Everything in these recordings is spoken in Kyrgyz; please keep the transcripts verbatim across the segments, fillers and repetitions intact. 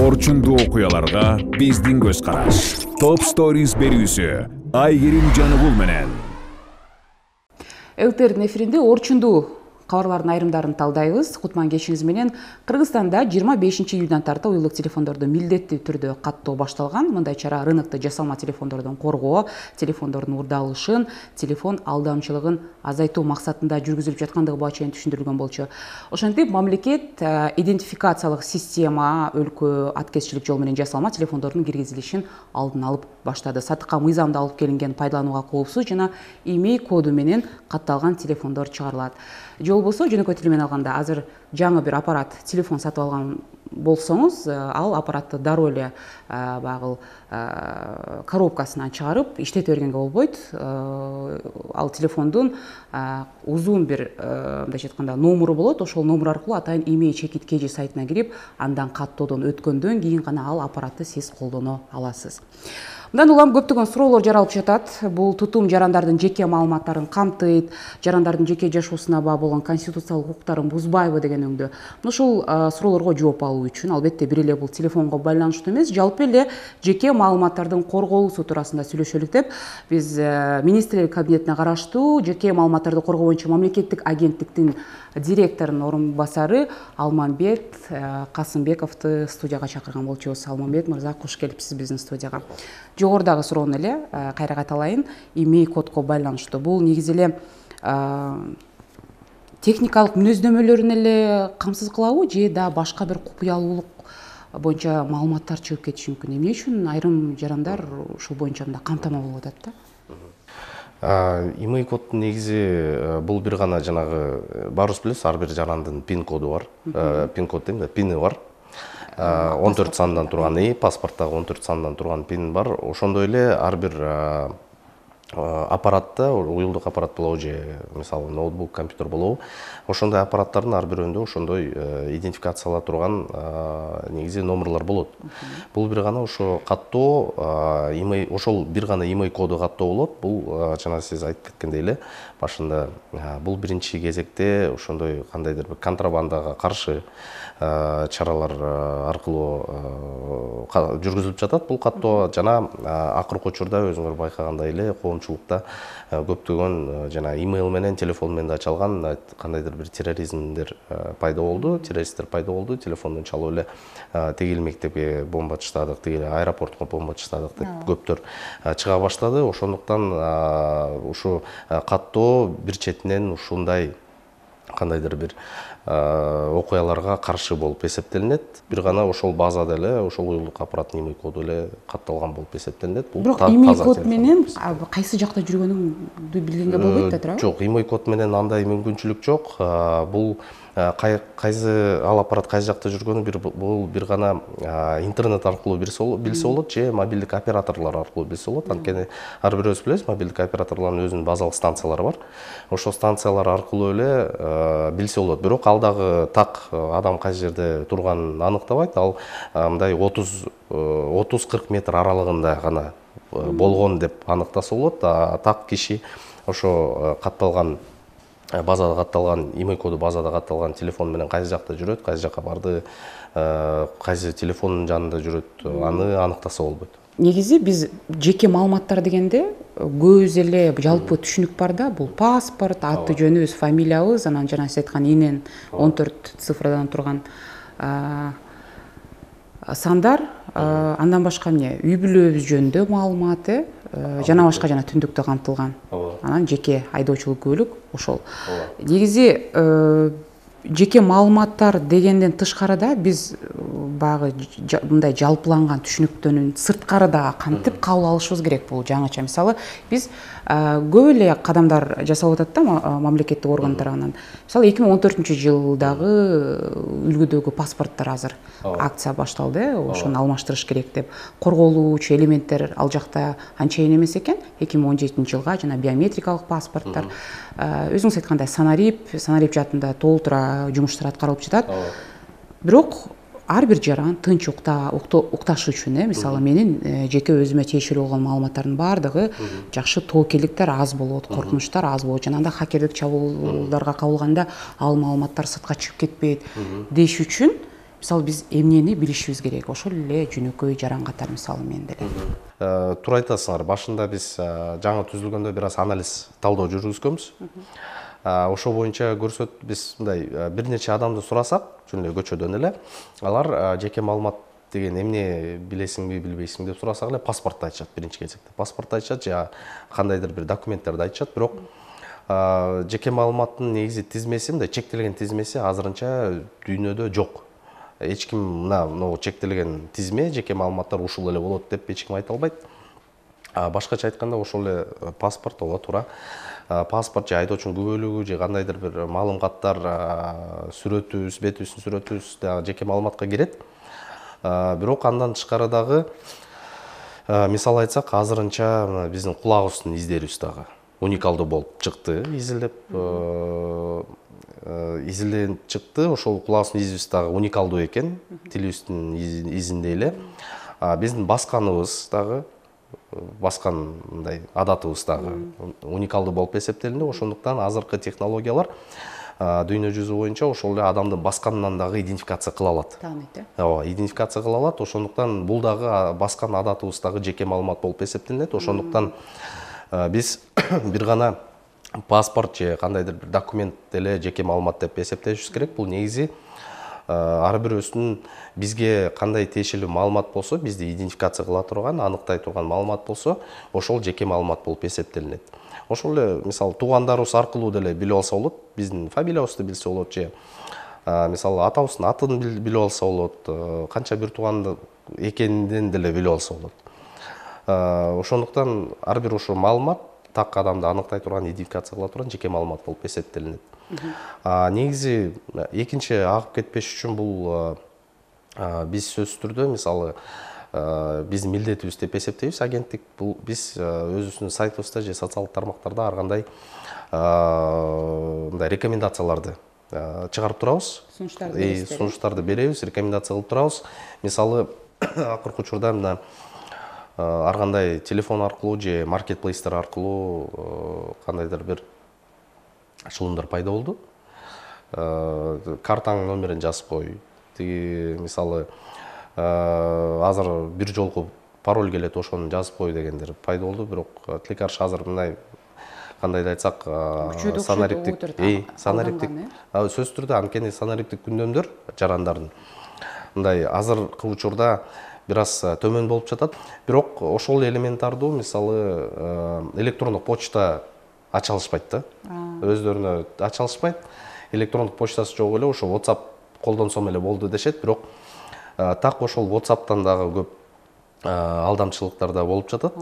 орчундуу окуяларга биздин көз караш. Топ Stories берүүсү Айгерим Жаныбул менен. ЛТРдин эфиринде орчундуу кабарлардын айрымдарын талдайбыз. Кутман кечиңиз менен. Кыргызстанда жыйырма бешинчи июлдан тарта уюлдук телефондорду милдеттүү түрдө каттоо башталган. Мындай чара рынокто жасалма телефондордон коргоо, телефондордун урдалышын, телефон алдамчылыгын азайтуу максатында жүргүзүлүп жаткандыгы буга чейин түшүндүрүлгөн болчу. Ошентип мамлекет идентификациялык система өлкө аткезчилик жол менен жасалма телефондордун киргизилишин алдын алып баштады. Сатыкка мыйзамда алып келинген пайдаланууга коопсуз жана имей коду менен катталган телефондор чыгарылат. Же болбосо жөнөкөй тил менен алганда азыр жаңы бир аппарат, телефон сатып алган болсоңуз, ал аппаратты дароо эле багыл коробкасынан чыгарып иштете бергенге болбойт. Ал телефондун узун бир мындайча айтканда номуру болот. Ошол номур аркылуу атайын имей чекит кж сайтына кирип, андан каттоодон өткөндөн кийин гана ал аппаратты сиз колдоно аласыз. Мындан улам көптөгөн суроолор жаралып жатат. Бул тутум жарандардын жеке маалыматтарын камтыйт, жарандардын жеке жашоосуна баа болгон конституциялык укуктарын бузбайбы деген өңдө. Ушул суроолорго жооп алуу үчүн албетте бир эле бул телефонго байланыштуу эмес, жалпы эле жеке маалыматтардын корголуусу туурасында сүйлөшөлүк деп биз министрлер кабинетине караштуу жеке маалыматтарды коргоо боюнча мамлекеттик агенттиктин директорунун орун басары Алмамбет Касымбековду студияга чакырган болчубуз. Алмамбет мырза, кош келипсиз биздин студияга. Жогорудагы суроону эле кайра кайталайын. Имей кодко байланыштуу. Бул негизи эле техникалык мүнөздөмөлөрүн эле камсыз кылабы же да башка бир купуялуулук боюнча маалыматтар чыгып кетиши мүмкүн? Эмне үчүн айрым жарандар ушул боюнча мындай камтама болуп атат да? Имей код негизи бул бир гана жанагы баарыбыз билебиз, ар бир жарандын пин коду бар. Пин код дейм да, пини бар. он төрт сандан турган, и паспорттагы он төрт сандан турган пин бар. Ошондой эле ар бир аппаратта, уюлдук аппарат болобу же мисалы ноутбук, компьютер болобу, ошондой аппараттардын ар бирөөндө ошондой идентификациялап турган негизи номерлор болот. Бул бир гана ошо каттоо, имей, ошол бир гана имей коду каттоо болот. Бул жана сиз айтып кеткендей эле башында бул биринчи кезекте ошондой кандайдыр бир контрабандага каршы чаралар аркылуу жүргүзүлүп жатат бул каттоо. Жана акыркы учурда өзүңөр байкагандай эле коомчулукта көптөгөн жана имейл менен, телефон менен да чалган кандайдыр бир терроризмдер пайда болду, террористтер пайда болду. Телефондон чалып эле тиги мектепке бомба таштадык, тиги аэропортко бомба таштадык деп көптөр чыга баштады. Ошондуктан ушу каттоо бир четинен ушундай кандайдыр бир окуяларга каршы болуп эсептелинет. Бир гана ошол базада эле ошол уюлдук аппараттын имей коду эле катталган болуп эсептелинет. Бирок имей код менен кайсы жакта жүргөнүңдү билгенге болбойт да, туурабы? Жок, имей код менен андай мүмкүнчүлүк жок. Бул кайсы ал аппарат кайсы жакта жүргөнү бул бир гана интернет аркылуу билсе болот же мобилдик операторлор аркылуу билсе болот. Анткени ар бирөөбүз билебиз, мобилдик операторлордун өзүнүн базалык станциялары бар. Ошол станциялар аркылуу эле билсе болот. Бирок ал дагы так адам кайсы жерде турганын аныктабайт. Ал мындай отуз кырк метр аралыгында гана болгон деп аныктаса болот. Так киши ошо катталган базада катталган, имей коду базада катталган телефон менен кайсы жакта жүрөт, кайсы жакка барды, кайсы телефондун жанында жүрөт, аны аныктаса болбойт. Негизи биз жеке маалыматтар дегенде көз эле жалпы түшүнүк бар да. Бул паспорт, аты жөнүбүз, фамилиябыз, анан жана сиз айткан инен он төрт цифрдан турган сандар, андан башка эмне? Үй бүлөбүз жөнүндө маалымат, жана башка жана түндүктө камтылган. Анан жеке айдоочулук көлүк ошол. Негизи жеке маалыматтар дегенден тышкарыда биз баягы мындай жалпыланган түшүнүктөн сырткарыда кантип кабыл алышыбыз керек бул жаңыча. Мисалы, биз көп эле кадамдар жасалып атат да мамлекеттик орган тарабынан. Мисалы, эки миң он төртүнчү жылдагы үлгүдөгү паспорттор азыр акция башталды, ошону алмаштырыш керек деп. Корголуучу элементтер ал жакта анчайын эмес экен. эки миң он жетинчи жылга жана биометрикалык паспорттор, өзүңүз айткандай санарип, санарип жаатында толтура жумуштар аткарылып жатат. Бирок ар бир жаран тынч укташ үчүн, мисалы менин жеке өзүмө тиешелүү болгон маалыматтардын баардыгы жакшы тобокелдиктер аз болот, коркунучтар аз болот, жана анда хакердик чабуулдарга кабылганда ал маалыматтар сыртка чыгып кетпейт деш үчүн мисалы биз эмнени билишибиз керек, ошол эле жөнөкөй жаран катар мисалы мен деле. Туура айтасыңар, башында биз жаңы түзүлгөндө бир аз анализ талдоо жүргүзгөнбүз. Ошол боюнча көрсөт биз мындай бир нече адамды сурасак, жөн эле көчөдөн эле, алар жеке маалымат деген эмне билесиңби, билбейсиңби деп сурасак эле паспортду айтышат биринчи кезекте. Паспортду айтышат же кандайдыр бир документтерди айтышат, бирок жеке маалыматтын негизи тизмеси, мындай чектелген тизмеси азырынча дүйнөдө жок. Эч ким мына могу чектелген тизме жеке маалыматтар ушул эле болот деп эч ким айта албайт. Башкача айтканда ошол эле паспорт, ооба туура. Паспорт же айдоочунун күбөлүгү же кандайдыр бир маалыматтар, сүрөтүбүз, бетибиздин сүрөтүбүз дагы жеке маалыматка кирет. Бирок андан тышкары дагы мисал айтсак, азырынча биздин кулагыбыздын издерибиз дагы уникалдуу болуп чыкты, изилдеп изилденип чыкты. Ошол кулагыбыздын изибиз дагы уникалдуу экен, тилибиздин изиндей эле. Биздин басканыбыз дагы, баскан мындай адатыбыз дагы уникалдуу болуп эсептелинди. Ошондуктан азыркы технологиялар дүйнө жүзү боюнча ошол эле адамды басканынан дагы идентификация кыла алат. Тааныйт, э? Ооба, идентификация кыла алат. Ошондуктан бул дагы баскан адатыбыз дагы жеке маалымат болуп эсептелинет. Ошондуктан биз бир гана паспорт же кандайдыр бир документ эле жеке маалымат деп эсептешибиз керек. Бул негизи ар бирөөсүнүн бизге кандай тиешелүү маалымат болсо, бизди идентификация кыла турган, аныктай турган маалымат болсо, ошол жеке маалымат болуп эсептелинет. Ошол эле мисалы туугандарыбыз аркылуу деле билип алса болот, биздин фамилиябызды билсе болот же мисалы атабыздын атын билип алса болот, канча бир тууган экенин деле билип алса болот. Ошондуктан ар бир ошол маалымат так адамды аныктай турган, идентификация кыла турган жеке маалымат болуп эсептелинет. Негизи экинчи агып кетпеш үчүн бул биз сөзсүз түрдө мисалы биздин милдетибиз деп эсептейбиз. Агенттик бул биз өзүбүздүн сайтыбызда же социалдык тармактарда ар кандай мындай рекомендацияларды чыгарып турабыз. Сунуштарды беребиз. Сунуштарды беребиз, рекомендация кылып турабыз. Мисалы акыркы учурда мына ар кандай телефон аркылуу же маркетплейстер аркылуу кандайдыр бир чылымдар пайда болду. Картаңдын номерин жазып кой. Тиги мисалы азыр бир жолку пароль келет, ошону жазып кой дегендер пайда болду. Бирок тилеки каршы азыр мындай кандайды айтсак, санариптик, санариптик сөзсүз түрдө анткени санариптик күндөмдөр жарандардын мындай азыркы учурда бир аз төмөн болуп жатат. Бирок ошол элементардуу мисалы электрондук почта ача алышпайт да. Өздөрүнө ача алышпайт. Электрондук почтасы жок эле, ошо WhatsApp колдонсом эле болду дешет. Бирок так ошол WhatsApp'тан дагы көп алдамчылыктар да болуп жатат.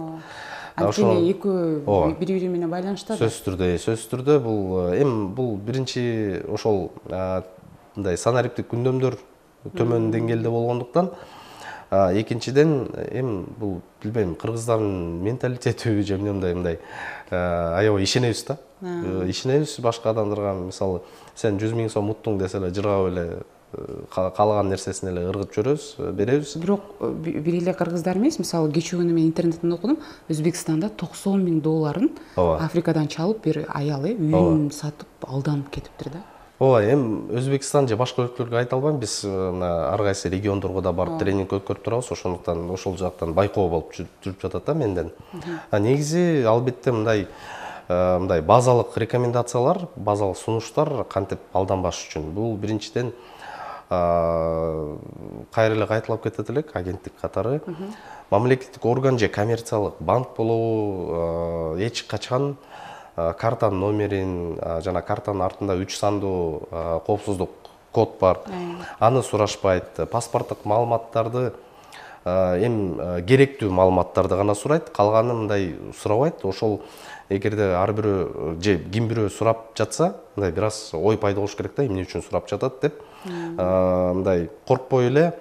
Анткени экөө бири-бири менен байланышта. Сөзсүз түрдө, сөзсүз түрдө бул эми бул биринчи ошол мындай санариптик күндөмдөр төмөн деңгээлде болгондуктан, экинчиден эми бул билбейм, кыргыздардын менталитетиби же мындай мындай аябай ишенебиз да. Ишенебиз башка адамдарга, мисалы сен жүз миң сом уттуң десе эле жыргап эле каалаган нерсесин эле ыргытып жүрөбүз, беребиз. Бирок бир эле кыргыздар эмес, мисалы кечээ күнү мен интернеттен окудум, Өзбекстанда токсон миң долларын Африкадан чалып бир аял үйүн сатып алданып кетиптир да. Ооба, эми Өзбекстан же башка өлкөлөргө айта албайм, биз ар кайсы региондорго да барып тренинг өткөрүп турабыз, ошондуктан ошол жактан байкоо болуп жүрүп жатат да менден. Негизи албетте мындай мындай базалык рекомендациялар, базалык сунуштар кантип алданбаш үчүн. Бул биринчиден кайра эле кайталап кетет элек, агенттик катары мамлекеттик орган же коммерциялык банк болобу эч качан картанын номерин жана картанын артында үч сандуу коопсуздук код бар. Аны сурашпайт. Паспорттук маалыматтарды эми керектүү маалыматтарды гана сурайт, калганы мындай сурабайт. Ошол эгерде ар бирөө же ким бирөө сурап жатса, мындай бир аз ой пайда болуш керек да, эмне үчүн сурап жатат деп. Мындай коркпой эле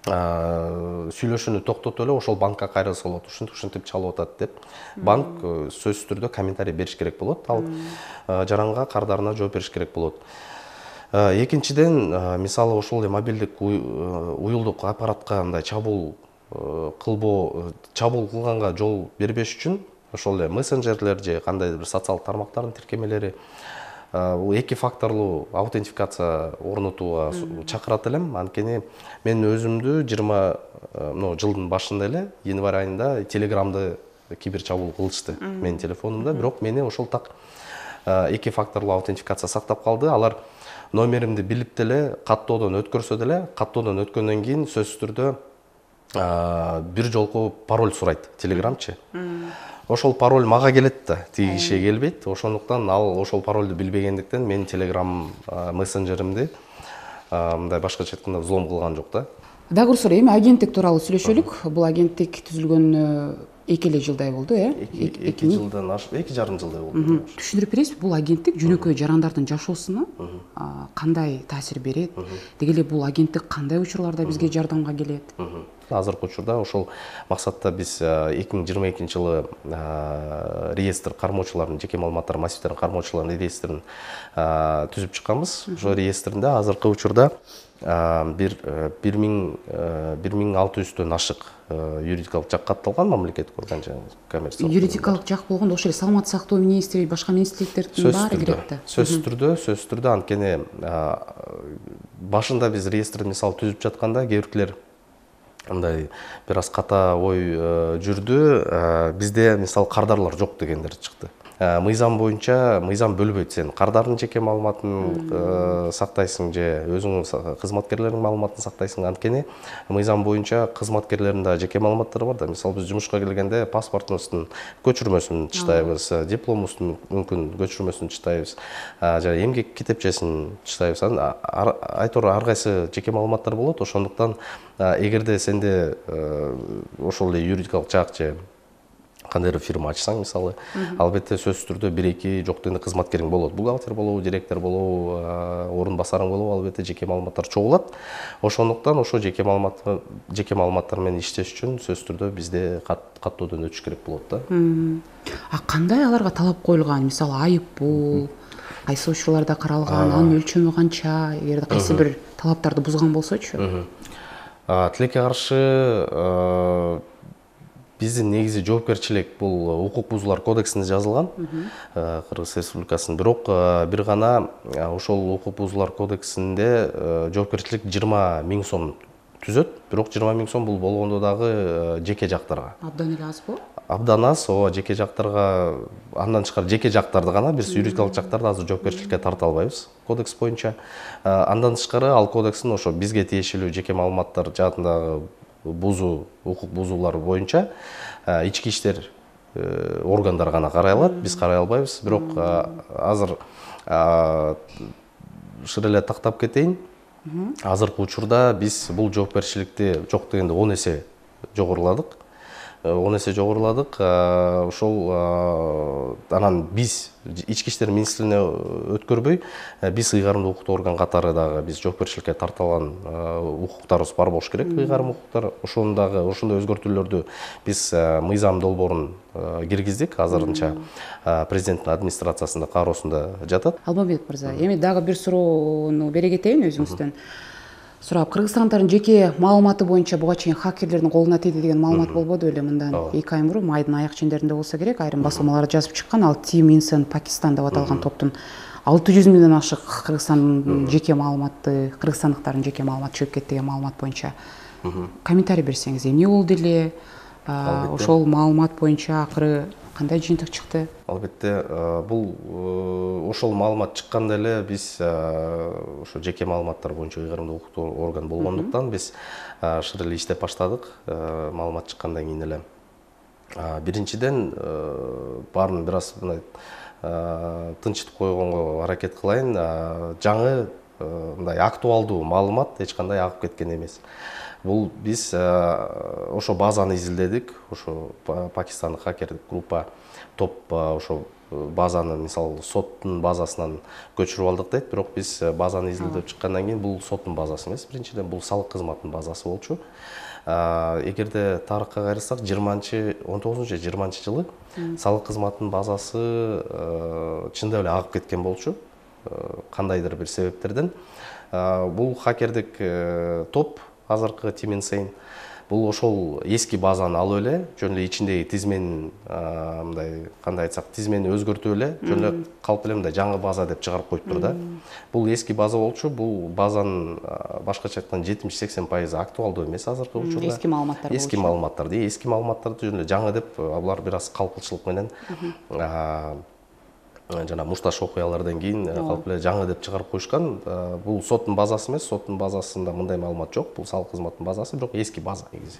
сүйлөшүүнү токтотуп эле ошол банкка кайрылса болот. Ушинтип ушинтип чалып атат деп банк сөзсүз түрдө комментарий бериш керек болот. Ал жаранга, кардарына жооп бериш керек болот. Экинчиден, мисалы ошол эле мобилдик уюлдук аппаратка мындай чабуул кылбоо, чабуул кылганга жол бербеш үчүн ошол эле мессенджерлер же кандайдыр бир социалдык тармактардын тиркемелери бул эки факторлуу аутентификация орнотууга чакырат элем. Анткени мен өзүмдү жыйырма мына жылдын башында эле январь айында Телеграмды кибер чабуул кылышты менин телефонумда, бирок мени ошол так эки факторлуу аутентификация сактап калды. Алар номеримди билип деле каттоодон өткөрсө деле, каттоодон өткөндөн кийин сөзсүз түрдө бир жолку пароль сурайт Телеграмчы. Ошол пароль мага келет да, тиги кишиге келбейт. Ошондуктан ал ошол паролду билбегендиктен менин Telegram мессенджеримди мындай башкача айтканда взлом кылган жок да. Дагы суроо, эми агенттик тууралуу сүйлөшөлүк. Бул агенттик түзүлгөнүнө эки эле жылдай болду, э? эки жылдан ашып, эки жарым жылдай болду. Түшүндүрүп бересизби, бул агенттик жөнөкөй жарандардын жашоосуна кандай таасир берет? Деги эле бул агенттик кандай учурларда бизге жардамга келет? Азыркы учурда ошол максатта биз эки миң жыйырма экинчи жылы реестр кармоочулардын жеке маалыматтар массивдерин кармоочулардын реестрин түзүп чыкканбыз. Ошол реестринде азыркы учурда бир миң алты жүздөн ашык юридикалык жак катталган, мамлекеттик орган жана коммерциялык. Юридикалык жак болгондо ошол эле саламаттык сактоо министри, башка министрликтердин баары кирет да. Сөзсүз түрдө, сөзсүз түрдө, анткени башында биз реестрди мисалы түзүп жатканда кээ биркилер мындай бир аз ката ой жүрдү. Бизде мисалы кардарлар жок дегендер чыкты. Мыйзам боюнча мыйзам бөлбөйт, сен кардардын жеке маалыматын сактайсың же өзүңдүн кызматкерлердин маалыматын сактайсың. Анткени мыйзам боюнча кызматкерлердин да жеке маалыматтары бар да. Мисалы биз жумушка келгенде паспортубуздун көчүрмөсүн чытайбыз, дипломубуздун мүмкүн көчүрмөсүн чытайбыз, жана эмгек китепчесин чытайбыз. Айтор ар кайсы жеке маалыматтар болот. Ошондуктан эгерде сенде ошол эле юридикалык жак же кандайдыр фирма ачсаң, мисалы, албетте сөзсүз түрдө бир эки жок дегенде кызматкериң болот. Бухгалтер болобу, директор болобу, орун басарың болобу, албетте жеке маалыматтар чогулат. Ошондуктан ошо жеке маалыматтар жеке маалыматтар менен иштеш үчүн сөзсүз түрдө бизде каттоодон өтүш керек болот да. А кандай аларга талап коюлган? Мисалы, айыппул, кайсы учурларда каралган, анын өлчөмү канча, эгерде кайсы бир талаптарды бузган болсочу? Тилекке каршы биздин негизи жоопкерчилик бул укук бузуулар кодексинде жазылган, Кыргыз Республикасынын. Бирок бир гана ошол укук бузуулар кодексинде жоопкерчилик жыйырма миң сом түзөт. Бирок жыйырма миң сом бул болгондо дагы жеке жактарга. Абдан эле азбы? Абдан аз, ооба, жеке жактарга. Андан тышкары жеке жактарды гана, биз юридикалык жактарды азыр жоопкерчиликке тарта албайбыз кодекс боюнча. Андан тышкары ал кодекстин ошо бизге тиешелүү жеке маалыматтар жаатындагы бузуу, укук бузуулар боюнча ички иштер органдары гана карай алат, биз карай албайбыз. Бирок азыр шыр эле тактап кетейин. Азыркы учурда биз бул жоопкерчиликти жок дегенде он эсе жогоруладык. он эсе жогоруладык. Ошол анан биз ички иштер министрлигине өткөрбөй, биз ыйгарымдуу укуктуу орган катары дагы биз жоопкерчиликке тартылган укуктарыбыз бар болуш керек. Ыйгарым укуктар, ошондагы ошондой өзгөртүүлөрдү биз мыйзам долбоорун киргиздик. Азырынча президенттин администрациясында кароосунда жатат. Алмамбет мырза, эми дагы бир суроону бере кетейин өзүңүздөн. Сурап, кыргызстандардын жеке маалыматы боюнча буга чейин хакерлердин колуна тийди деген маалымат болбоду беле мындан эки ай мурун, майдын аяк чендеринде болсо керек, айрым басылмалар жазып чыккан. Ал Team Insen Pakistan деп аталган топтун алты жүз миңден ашык Кыргызстандын жеке маалыматы, кыргызстандыктардын жеке маалыматы чыгып кетти деген маалымат боюнча комментарий берсеңиз, эмне болду эле? Ошол маалымат боюнча акыры кандай жыйынтык чыкты? Албетте, бул ошол маалымат чыкканда эле биз ошо жеке маалыматтар боюнча ыйгарымдуу укуктуу орган болгондуктан биз шыр эле иштеп баштадык. Маалымат чыккандан кийин эле биринчиден баарын бир аз мындай тынчытып койгонго аракет кылайын. Жаңы мындай актуалдуу маалымат эч кандай агып кеткен эмес. Бул биз ошо базаны изилдедик, ошо пакистандык хакерлик группа топ ошо базаны мисалы соттун базасынан көчүрүп алдык дейт, бирок биз базаны изилдеп чыккандан кийин бул соттун базасы эмес, биринчиден бул салык кызматынын базасы болчу. Эгерде тарыхка кайрылсак, он тогузунчу жыйырманчы жылы салык кызматынын базасы чындап эле агып кеткен болчу, кандайдыр бир себептерден. Бул хакердик топ азыркы Team Insen бул ошол эски базаны алып эле жөн эле ичиндеги тизмени мындай кандай айтсак тизмени өзгөртүп эле жөн эле калп эле мындай жаңы база деп чыгарып коюптур да. Бул эски база болчу. Бул базанын башкача айтканда жетимиш сексен пайызы актуалдуу эмес азыркы учурда. Эски маалыматтар. Эски маалыматтар. Эски маалыматтарды жөн эле жаңы деп алар бир аз калпылчылык менен жана мушташ окуялардан кийин калп эле жаңы деп чыгарып коюшкан. Бул соттун базасы эмес, соттун базасында мындай маалымат жок. Бул салык кызматынын базасы, бирок эски база негизи.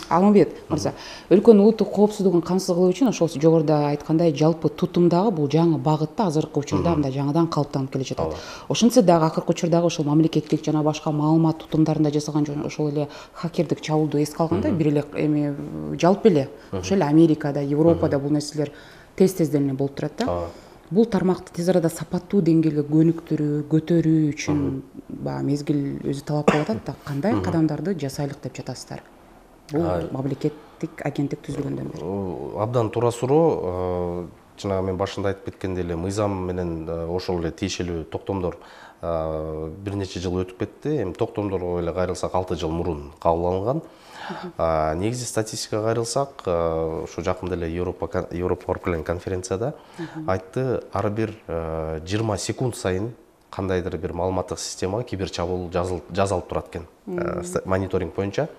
Алмамбет мырза, өлкөнүн улуттук коопсуздугун камсыз кылуу үчүн ошол жогоруда айткандай жалпы тутумдагы бул жаңы багытта азыркы учурда мындай жаңыдан калыптанып келе жатат. Ошентсе дагы акыркы учурдагы ошол мамлекеттик жана башка маалымат тутумдарында жасалган ошол эле хакердик чабуулду эске алганда бир эле эми жалпы эле ошол эле Америкада, Европада бул нерселер тез-тезден эле болуп турат да. Бул тармакты тез арада сапаттуу деңгээлге көнүктүрүү, көтөрүү үчүн баягы мезгил өзү талап кылып атат да. Кандай кадамдарды жасайлык деп жатасыздар? Бул мамлекеттик агенттик түзүлгөндөн бери. Абдан туура суроо. Жана мен башында айтып кеткендей эле мыйзам менен ошол эле тиешелүү токтомдор бир нече жыл өтүп кетти. Эми токтомдорго эле кайрылсак алты жыл мурун кабыл алынган. Негизи статистикага кайрылсак, ушу жакында эле Европа Европа Орклен конференцияда айтты, ар бир жыйырма секунд сайын кандайдыр бир маалыматтык системага кибер чабуул жазалып турат экен мониторинг боюнча.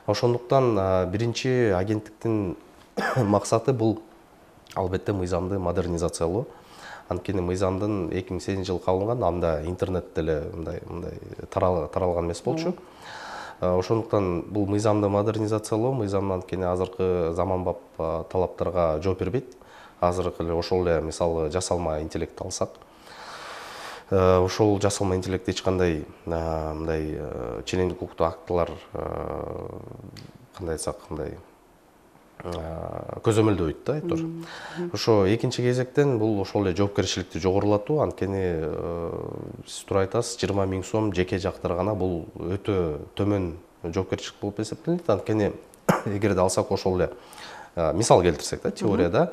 Ошондуктан биринчи агенттиктин максаты бул албетте мыйзамды модернизациялоо. Анткени мыйзамдын эки миң сегизинчи жылы кабыл алынган, анда интернет деле мындай мындай таралган эмес болчу. Ошондуктан бул мыйзамды модернизациялоо, мыйзам анткени азыркы заманбап талаптарга жооп бербейт. Азыркы эле ошол эле мисалы жасалма интеллектти алсак, ошол жасалма интеллект эч кандай мындай ченемдик укуктуу актылар кандай айтсак мындай көзөмөлдөбөйт да айтор. Ошо экинчи кезектен бул ошол эле жоопкерчиликти жогорулатуу. Анткени сиз туура айтасыз, жыйырма миң сом жеке жактыргана бул өтө төмөн жоопкерчилик болуп эсептелет. Анткени эгерде алсак ошол эле мисал келтирсек да, теорияда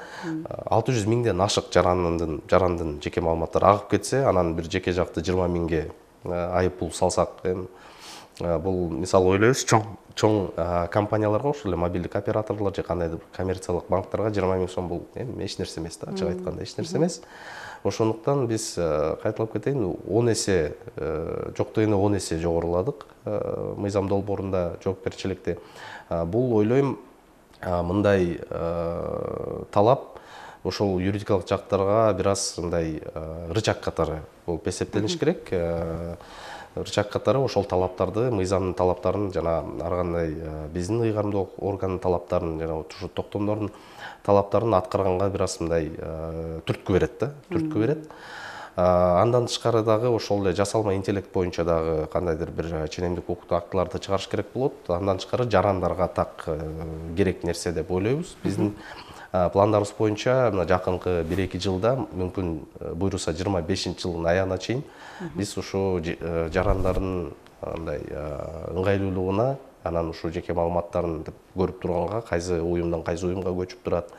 алты жүз миңден ашык жарандын жарандын жеке маалыматтары агып кетсе, анан бир жеке жакты жыйырма миңге айып пул салсак, бул мисалы ойлойбуз, чоң чоң компанияларга, ошол эле мобилдик операторлор же кандайдыр коммерциялык банктарга жыйырма миң сом бул эми эч нерсе эмес да, ачык айтканда эч нерсе эмес. Ошондуктан биз кайталап кетейин, он эсе, жок дегенде он эсе жогоруладык мыйзам долбоорунда жоопкерчиликти. Бул ойлойм мындай талап ошол юридикалык жактарга бир аз мындай рычаг катары болуп эсептелиш керек. Рычаг катары ошол талаптарды, мыйзамдын талаптарын жана ар кандай биздин ыйгарымдуу органдын талаптарын жана ушу токтомдордун талаптарын аткарганга бир аз мындай түрткү берет да, түрткү берет. Андан тышкары дагы ошол эле жасалма интеллект боюнча дагы кандайдыр бир ченемдик укуктуу актыларды чыгарыш керек болот. Андан тышкары жарандарга так керек нерсе деп ойлойбуз. Биздин пландарыбыз боюнча мына жакынкы бир эки жылда, мүмкүн буйруса жыйырма бешинчи жылдын аягына чейин биз ушу жарандардын андай ыңгайлуулугуна, анан ушу жеке маалыматтарын көрүп турганга, кайсы уюмдан кайсы уюмга көчүп турат,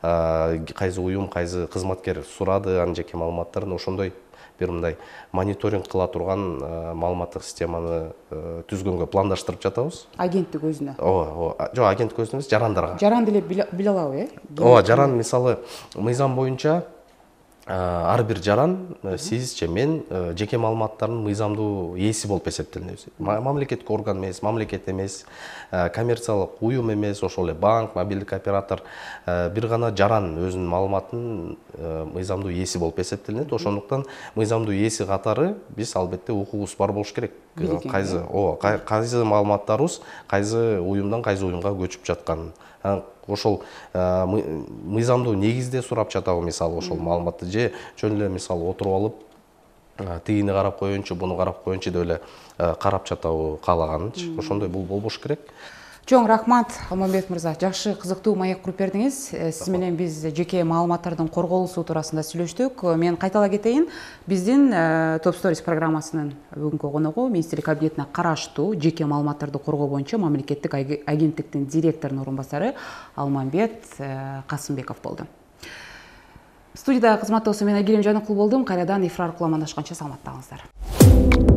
кайсы уюм, кайсы кызматкер сурады анын жеке маалыматтарын, ошондой бир мындай мониторинг кыла турган маалыматтык системаны түзгөнгө пландаштырып жатабыз. Агенттик өзүнө? Ооба, жок, агенттик өзүнө эмес, жарандарга. Жаран деле биле алабы, э? Ооба, жаран мисалы мыйзам боюнча ар бир жаран, сиз же мен жеке маалыматтарынын мыйзамдуу ээси болуп эсептелебиз. Мамлекеттик орган эмес, мамлекет эмес, коммерциялык уюм эмес, ошол эле банк, мобилдик оператор, бир гана жаран өзүнүн маалыматынын мыйзамдуу ээси болуп эсептелинет. Ошондуктан мыйзамдуу ээси катары биз албетте укугубуз бар болуш керек. Кайсы, ооба, кайсы маалыматтарыбыз кайсы уюмдан кайсы уюмга көчүп жатканын. Ошол мыйзамдуу негизде сурап жатабы, мисалы ошол маалыматты же жөн эле мисалы отуруп алып тигини карап коеюнчу, буну карап коеюнчу деп эле карап жатабы каалаганынчы. Ошондой бул болбош керек. Чоң рахмат, Алмамбет мырза. Жакшы, кызыктуу маек куруп бердиңиз. Сиз менен биз жеке маалыматтардын корголуусу туурасында сүйлөштүк. Мен кайтала кетейин. Биздин Top Stories программасынын бүгүнкү коногу министрлик кабинетине караштуу жеке маалыматтарды коргоо боюнча мамлекеттик агенттиктин директорунун орун басары Алмамбет Касымбеков болду. Студияда кызматтоосу мен Айгерим Жаныкул болдум. Кайрадан эфир аркылуу амандашканча саламатта калыңыздар.